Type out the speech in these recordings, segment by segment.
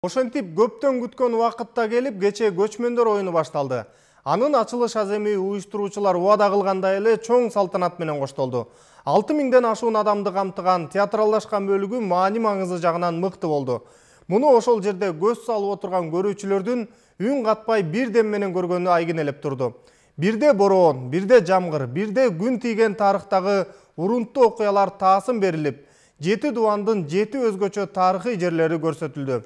Ошентип көптөн күткөн убакытта келип кече көчмөндөр оюну башталды. Анын ачылыш аземи уюштуруучулар убада кылгандай эле чоң салтанат менен коштолду. 6000ден ашуун адамды камтыган театралдашкан бөлүгү маани-маңызы жагынан мыкты болду. Муну ошол жерде көз салып отурган көрүүчүлөрдүн үн катпай бир дем менен көргөнү айгинелеп турду. Бирде бороон, бирде жамгыр, бирде күн тийген тарыхтагы урунттуу окуялар таасын берилип, 7 дубандын 7 өзгөчө тарыхый жерлери көрсөтүлдү.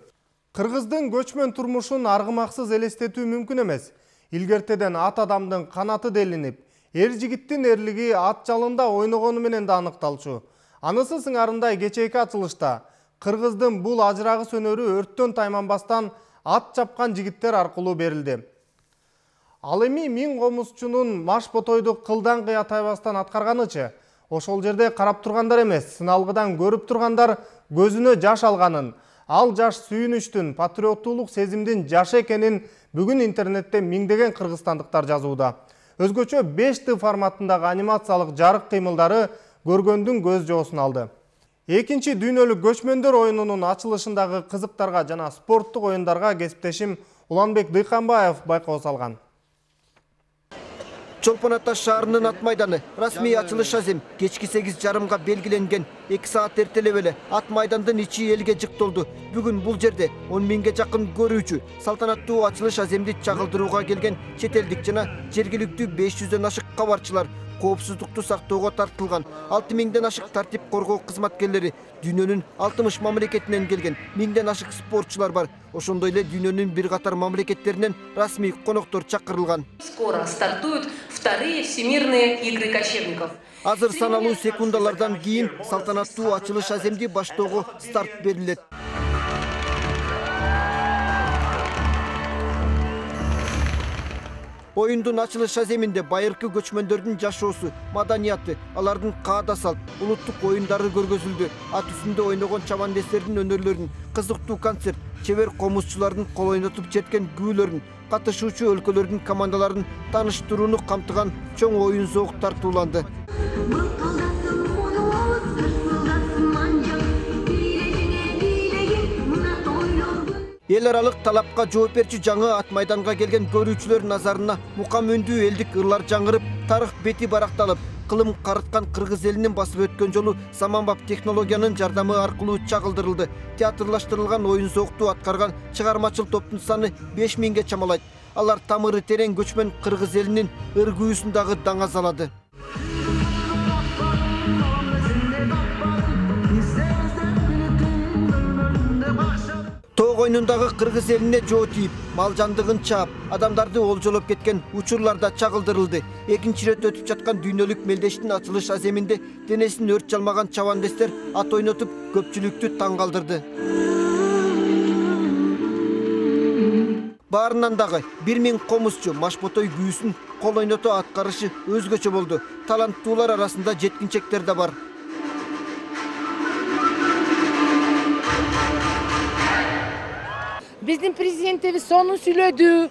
Кыргыздын көчмөн турмушун аргымаксыз элестетүү мүмкүн эмес. Илгертеден ат адамдын канаты делинип, эр жигиттин эрлиги ат жалында ойногону менен да аныкталчу. Анысы сыңарындай кечээки ачылышта Кыргыздын бул ажырагыс өнөрү өрттөн тайманбастан ат чапкан жигиттер аркылуу берилди. Ал эми 1000 комузчунун маш ботойду кылдан кыя тайбастан аткарганычы, ошол жерде карап тургандар эмес, сыналгыдан көрүп тургандар көзүнө жаш алганын, ал жаш сүйүнүчтүн, патриоттуулук сезимдин жашы экенин бүгүн интернетте миңдеген кыргызстандыктар жазууда. Өзгөчө 5D форматындагы анимациялык жарык кыймылдары көргөндүн көз жоосун алды. Экинчи дүйнөлүк көчмөндөр оюнунун ачылышындагы кызыктарга жана спорттук оюндарга кесиптешим Уланбек Дыйканбаев байкоо салган. Чолпон Ата шаарынын ат майданы расмий ачылыш азем кечки 8:30 белгиленген. 2 саат эртелеп эле ат майдандын ичи элге жыктолду. Бүгүн бул жерде 10 000ге жакын көрүүчү салтанаттуу ачылыш аземди чагылдырууга келген чет элдик жана жергиликтүү 500дөн ашык кабарчылар коопсуздукту сактоого тартылган. 6000ден ашык тартип коргоо кызматкерлери, дүйнөнүн 60 мамлекетинен келген 1000ден ашык спортчулар бар. Ошондой эле дүйнөнүн бир катар мамлекеттеринен расмий коноктор чакырылган. Скоро стартуют вторые всемирные игры кочевников. Азыр саналуу секундалардан кийин салтанаттуу ачылыш аземди баштоого старт берилет. Оюндун ачылыш аземинде байыркы көчмөндөрдүн жашоосу, маданияты, алардын каада салт, улуттук оюндары көргөзүлдү. Ат үстүндө ойногон чабандестердин өнөрлөрүн, кызыктуу концерт, чебер комузчулардын кол ойнотуп жеткен күүлөрүн, катышуучу өлкөлөрдүн командаларын тааныштырууну камтыган чоң оюн зоок тартууланды. Эл аралык талапка жооп берчү жаңы ат майданга келген көрүүчүлөр назарына мукам өндүү элдик ырлар жаңырып, тарых бети баракталып, кылым карыткан кыргыз элинин басып өткөн жолу заманбап технологиянын жардамы аркылуу чагылдырылды. Театрлаштырылган оюн зоокту аткарган чыгармачыл топтун саны 5000ге чамалайт. Алар тамыры терең көчмөн кыргыз элинин ыргүүсүн дагы даңазалады. Тоог оюнундагы кыргыз элине жоо тийип, мал жандыгын чаап, адамдарды олжолоп кеткен учурларда чагылдырылды. Экинчи рет өтүп жаткан дүйнөлүк мелдештин ачылыш аземинде денесин өрт жалмаган чабандестер ат ойнотуп көпчүлүктү таң калтырды. Баарынан дагы 1000 комузчу маш ботой күүсүн кол ойното аткарышы өзгөчө болду. Таланттуулар арасында жеткинчектер да бар. Биздин президентибиз сону сүйлөдү.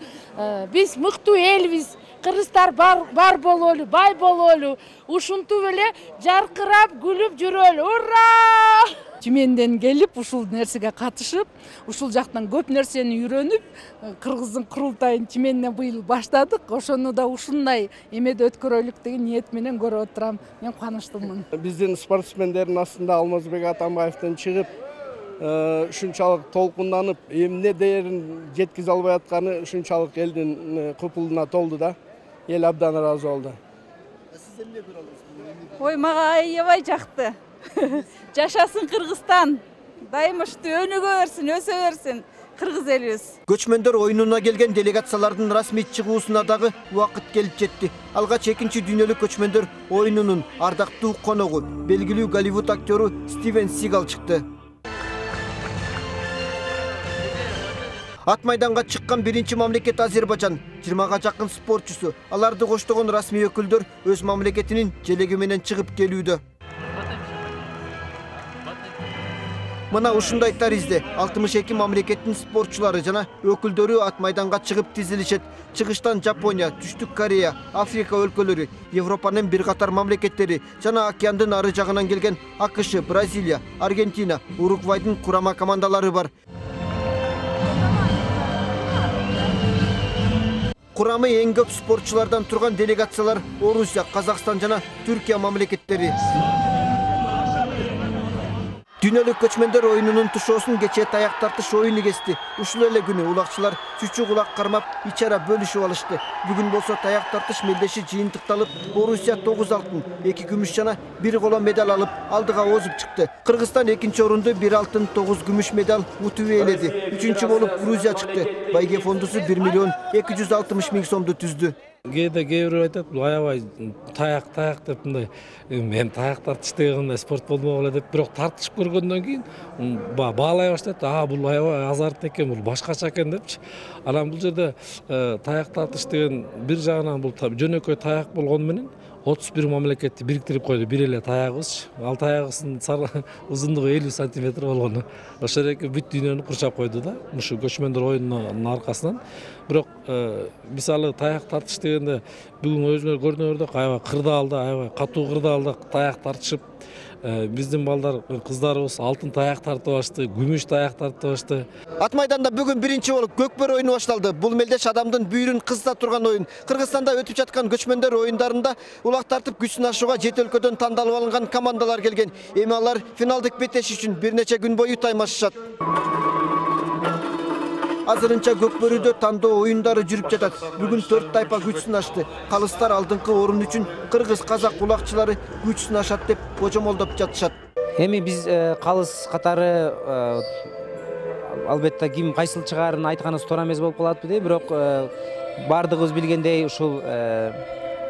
Биз мыктуу элбиз. Кыргыздар бар бололу, бай бололу. Ушинтип эле жаркырап, күлүп жүрөлү. Ура! Тümенден келип, ушул нерсеге катышып, ушул жактан көп нерсени үйрөнүп, Кыргыздын курултайын Тümенден быйыл баштадык. Ошону да ушундай эмеде өткөрөлүк деген ниет менен көрүп отурам. Мен кубанычтымын. Биздин спортсмендердин астында Алмазбек Атамбаевдин чыгып, ушунчалык толкунданып, эмне дээрин жеткизе албай атканы ушунчалык элдин купулуна толду да. Эл абдан ыраазы болду. Сиз эмне көрө аласыз? Ой, мага аябай жакты. Жашасын Кыргызстан. Дайымыштуу өнүгө берсин, өсө берсин кыргыз элибиз. Көчмөндөр оюнуна келген делегациялардын расмий чыгуусуна дагы убакыт келип жетти. Алгач экинчи дүйнөлүк көчмөндөр оюнунун ардактуу коногу, белгилүү Голливуд актёру Стивен Сигал чыкты. Ат майданга чыккан биринчи мамлекет Азербайжан, 20га жакын спортчусу. Аларды коштогон расмий өкүлдөр өз мамлекетинин желеги менен чыгып келүүдө. Мына ушундай таризде 62 мамлекеттин спортчулары жана өкүлдөрү ат майданга чыгып тизилишет. Чыгыштан Жапония, Түштүк Корея, Африка өлкөлөрү, Европанын бир катар мамлекеттери жана океандын ары жагынан келген АКШ, Бразилия, Аргентина, Уругвайдын курама командалары бар. Курамы эң көп спортчулардан турган делегациялар Орусия, Казакстан жана Түркия мамлекеттери. Дүйнөлүк көчмөндөр оюнунун тушоосун кечээ таяк тартыш оюну кести. Ушул эле күнү улакчылар чүчү кулак кармап ичара бөлүшүп алышты. Бүгүн болсо таяк тартыш мелдеши жыйынтыкталып, Орусия 9 алтын, 2 күмүш жана 1 коло медаль алып, алдыга озуп чыкты. Кыргызстан 2-нчи орунду 1 алтын, 9 күмүш медаль утуп ээледи. 3-үчү болуп Грузия чыкты. Байге фондусу 1 миллион 260 миң сомду түздү. Кээ бирөө айтат, бул аябай таяк деп мындай мен таяк тартыш дегенде спорт болмок эле деп, бирок тартышып көргөндөн кийин баалай баштайт. Бул аябай азарт экен, бул башкача экен депчи. Анан бул жерде таяк тартыш деген бир жагынан бул жөнөкөй таяк болгону менен 31 мамлекетти бириктирип койду. Бир эле таягыбыз. Ал таягыбыздын узундугу 50 сантиметр болгону. Ошол эки бүт дүйнөнү курчап койду да. Ушу көчмөндөр оюнунун аркасынан. Бирок мисалы таяк тартыш дегенде бүгүн өзүңөр көрдүңөрдө аябай кырдаалда, аябай катуу кырдаалда таяк тартышып, биздин балдар, кыздарыбыз алтын таяк тартып башты, күмүш таяк тартып башты. Ат майданда бүгүн биринчи болуп көкбөр оюну башталды. Бул мелдеш адамдын бүйүрүн кызыта турган оюн. Кыргызстанда өтүп жаткан көчмөндөр оюндарында улак тартып күч сынашууга чет өлкөдөн тандалып алынган командалар келген. Эми алар финалдык беттеш үчүн бир нече күн бою таймашышат. Азырынча көкбөрүдө тандоо оюндары жүрүп жатат. Бүгүн 4 тайпа күч сынашты. Калыстар алдыңкы орун үчүн кыргыз, казак улакчылары күч сынашат деп божомолдоп жатышат. Эми биз калыс катары албетте ким кайсыл чыгаарын айтканыбыз туура эмес болуп калат, бирок бардыгыбыз билгендей ушул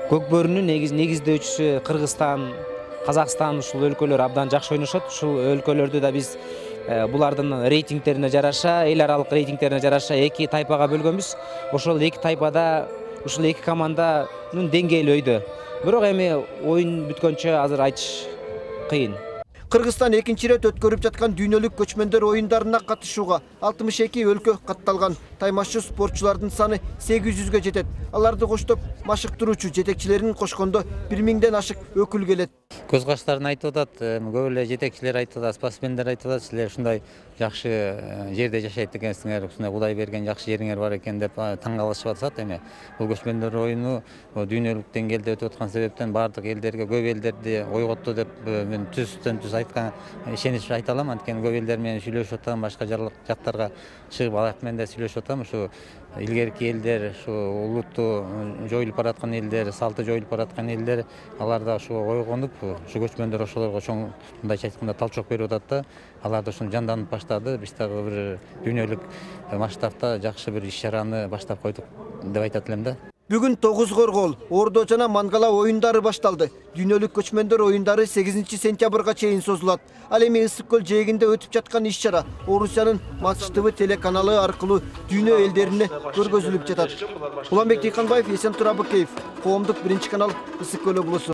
көкбөрүнүн негиздөөчүсү Кыргызстан, Казакстан ушул өлкөлөр абдан жакшы ойношот. Ушул өлкөлөрдү да биз булардын рейтингтерине жараша, эл аралык рейтингтерине жараша 2 тайпага бөлгөнбүз. Ошол 2 тайпада ушул 2 команданын деңгээли өйдө. Бирок эми оюн бүткөнчө азыр айтыш кыйын. Кыргызстан 2-нчи ирет өткөрүп жаткан дүйнөлүк көчмөндөр оюндарына катышууга 62 өлкө катталган. Таймашчы спортчулардын саны 800-гө жетет. Аларды коштоп машыктыруучу жетекчилерин кошкондо 1000ден ашык өкүл келет. Көз каштарын айтып атат, көп эле жетекчилер айтып атат, спортсмендер айтып атат, силер ушундай жакшы жерде жашайт экенсиңер, ушундай Кудай берген жакшы жериңер бар экен деп таң калышып атышат. Эми бул көчмөндөр оюну дүйнөлүк деңгээлде өтүп аткан себептен бардык элдерге, көп элдерди ойготту деп мен түз айткан ишенич айта алам. Анткени көп элдер менен сүйлөшүп атам, башка жактарга чыгып алак менен да сүйлөшүп атам. Ушу илгерки элдер, ушу улутту жоюлуп бараткан элдер, салты жоюлуп бараткан элдер, алар да ушу ойгонуп, ушу көчмөндөр ошолорго чоң мындайча айтканда талчок берип атат да. Алар да ушуну жанданып баштады. Биз дагы бир дүйнөлүк масштабта жакшы бир иш-чараны баштап койдук деп айтат элем да. Бүгүн 9 коргоол, Ордо жана Мангала оюндары башталды. Дүйнөлүк көчмөндөр оюндары 8 сентябрга чейин созулат. Ал эми Ысык көл жээгинде өтүп жаткан иш-чара Орусиянын Матч ТВ телеканалы аркылуу дүйнө элдерине көргөзүлүп жатат. Уланбек Тыйканбаев, Эсен Турабыкеев, Коомдук 1 канал, Ысык көл облусу.